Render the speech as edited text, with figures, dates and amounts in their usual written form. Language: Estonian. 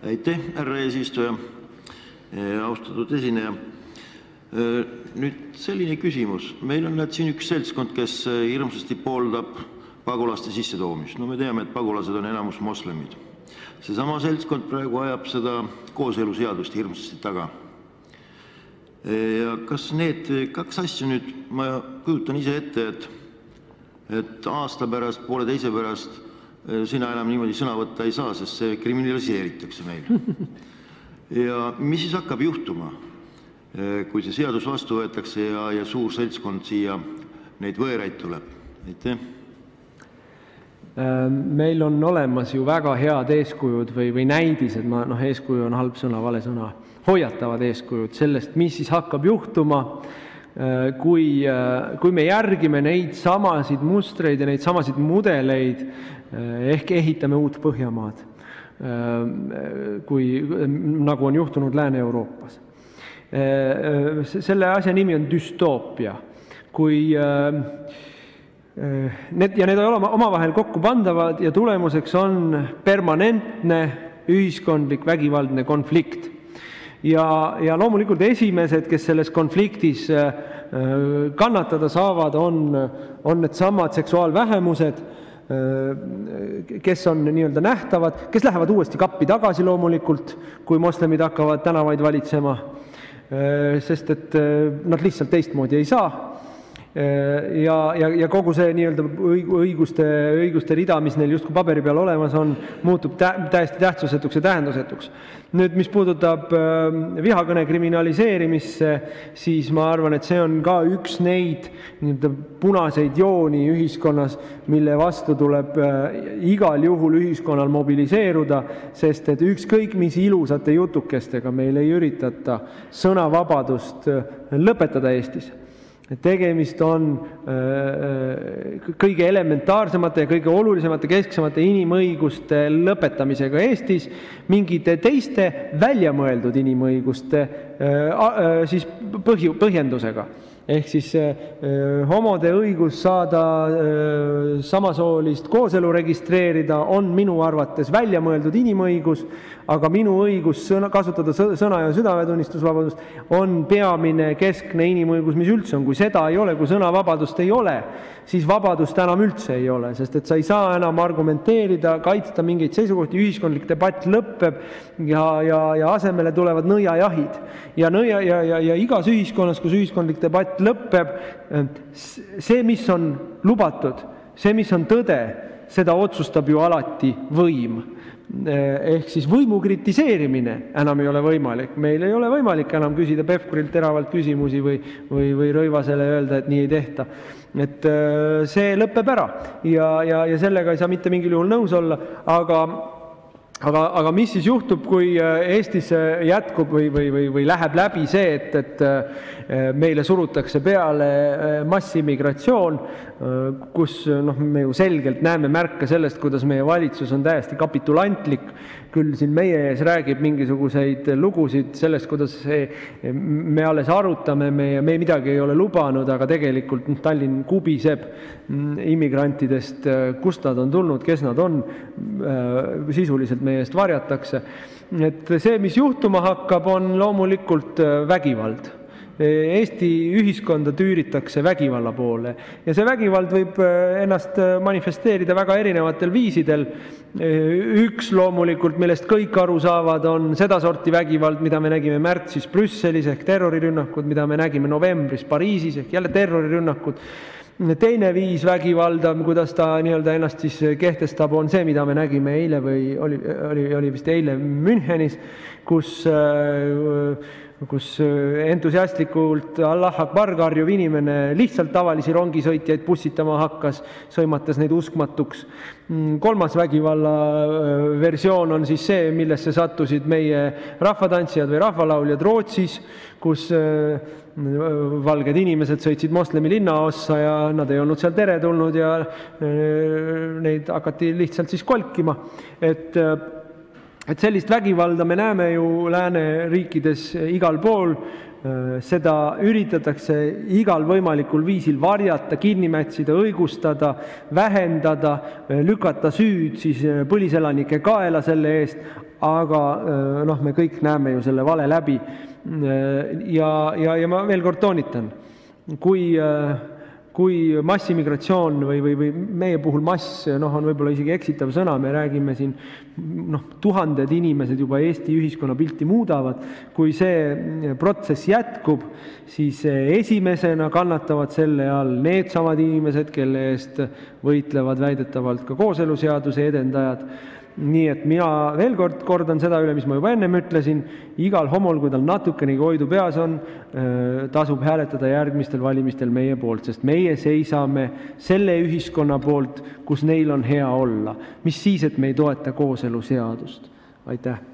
Aitäh, härra eesistuja. Austatud esineja. Nüüd selline küsimus. Meil on siin üks seltskond, kes hirmsasti pooldab pagulaste sissetoomist. No me teame, et pagulased on enamus moslemid. Seesama seltskond praegu ajab seda kooseluseadust hirmsasti taga. Ja kas need kaks asja nüüd, ma kujutan ise ette, et aasta pärast, pooleteise pärast sina enam niimoodi sõna võtta ei saa, sest see kriminaliseeritakse meil. Ja mis siis hakkab juhtuma, kui see seadus vastu võetakse ja suur seltskond siia neid võõraid tuleb? Aitäh. Meil on olemas ju väga head eeskujud või näidised, eeskuju on halb sõna, vale sõna, hoiatavad eeskujud sellest, mis siis hakkab juhtuma, kui me järgime neid samasid mustreid ja neid samasid mudeleid, ehk ehitame uut Põhjamaad, nagu on juhtunud Lääne-Euroopas. Selle asja nimi on düstoopia. Need ei ole omavahel kokku pandavad ja tulemuseks on permanentne ühiskondlik vägivaldne konflikt. Ja loomulikult esimesed, kes selles konfliktis kannatada saavad, on need samad seksuaalvähemused, kes on nii-öelda nähtavad, kes lähevad uuesti kappi tagasi loomulikult, kui moslemid hakkavad tänavaid valitsema, sest et nad lihtsalt teistmoodi ei saa. Ja kogu see nii-öelda õiguste rida, mis neil justkui paberi peal olemas on, muutub täiesti tähtsusetuks ja tähendusetuks. Nüüd, mis puudutab vihakõne kriminaliseerimisse, siis ma arvan, et see on ka üks neid punaseid jooni ühiskonnas, mille vastu tuleb igal juhul ühiskonnal mobiliseeruda, sest et ükskõik mis ilusate jutukestega meil ei üritata sõnavabadust lõpetada Eestis. Tegemist on kõige elementaarsemate ja kõige olulisemate kesksemate inimõiguste lõpetamisega Eestis, mingite teiste väljamõeldud inimõiguste siis põhjendusega. Ehk siis homode õigus saada samasoolist kooselu registreerida on minu arvates väljamõeldud inimõigus, aga minu õigus kasutada sõna- ja südametunnistusvabadust on peamine keskne inimõigus, mis üldse on. Kui seda ei ole, kui sõnavabadust ei ole, siis vabadust enam üldse ei ole, sest et sa ei saa enam argumenteerida, kaitsta mingeid seisukohti, ühiskondlik debatt lõpeb ja asemele tulevad nõiajahid. Ja igas ühiskonnas, kus ühiskondlik debatt lõpeb, see, mis on lubatud, see, mis on tõde, seda otsustab ju alati võim. Ehk siis võimu kritiseerimine enam ei ole võimalik. Meil ei ole võimalik enam küsida Pevkurilt teravalt küsimusi või Rõivasele öelda, et nii ei tehta. Et see lõpeb ära ja sellega ei saa mitte mingil juhul nõus olla, aga mis siis juhtub, kui Eestis jätkub või läheb läbi see, et meile surutakse peale massimigratsioon, kus me ju selgelt näeme märke sellest, kuidas meie valitsus on täiesti kapitulantlik, küll siin meie ees räägib mingisuguseid lugusid sellest, kuidas me alles arutame, me midagi ei ole lubanud, aga tegelikult Tallinn kubiseb immigrantidest, kust nad on tulnud, kes nad on, sisuliselt meie eest varjatakse. Et see, mis juhtuma hakkab, on loomulikult vägivald. Eesti ühiskonda tüüritakse vägivalla poole ja see vägivald võib ennast manifesteerida väga erinevatel viisidel. Üks loomulikult, millest kõik aru saavad, on sedasorti vägivald, mida me nägime märtsis Brüsselis ehk terrorirünnakud, mida me nägime novembris Pariisis ehk jälle terrorirünnakud. Teine viis vägivalda, kuidas ta nii-öelda ennast siis kehtestab, on see, mida me nägime eile või oli vist eile Münchenis, kus entusiastlikult Allah Akbar karjuv inimene lihtsalt tavalisi rongisõitjaid bussitama hakkas, sõimates neid uskmatuks. Kolmas vägivalla versioon on siis see, millesse sattusid meie rahvatantsijad või rahvalauljad Rootsis, kus valged inimesed sõitsid moslemi linnaossa ja nad ei olnud seal teretulnud ja neid hakati lihtsalt siis kolkima. Et sellist vägivalda me näeme ju lääneriikides igal pool, seda üritatakse igal võimalikul viisil varjata, kinni mätsida, õigustada, vähendada, lükata süüd siis põliselanike kaela selle eest, aga me kõik näeme ju selle vale läbi. Ja ma veel kord toonitan, kui massimigratsioon või meie puhul mass on võib-olla isegi eksitav sõna, me räägime siin tuhanded inimesed juba Eesti ühiskonna pilti muudavad, kui see protsess jätkub, siis esimesena kannatavad selle all needsamad inimesed, kelle eest võitlevad väidetavalt ka kooseluseaduse edendajad. Nii et mina veel kord kordan seda üle, mis ma juba ennem ütlesin, igal homol, kui tal natukenegi oidu peas on, tasub hääletada järgmistel valimistel meie poolt, sest meie seisame selle ühiskonna poolt, kus neil on hea olla. Mis siis, et me ei toeta kooseluseadust? Aitäh!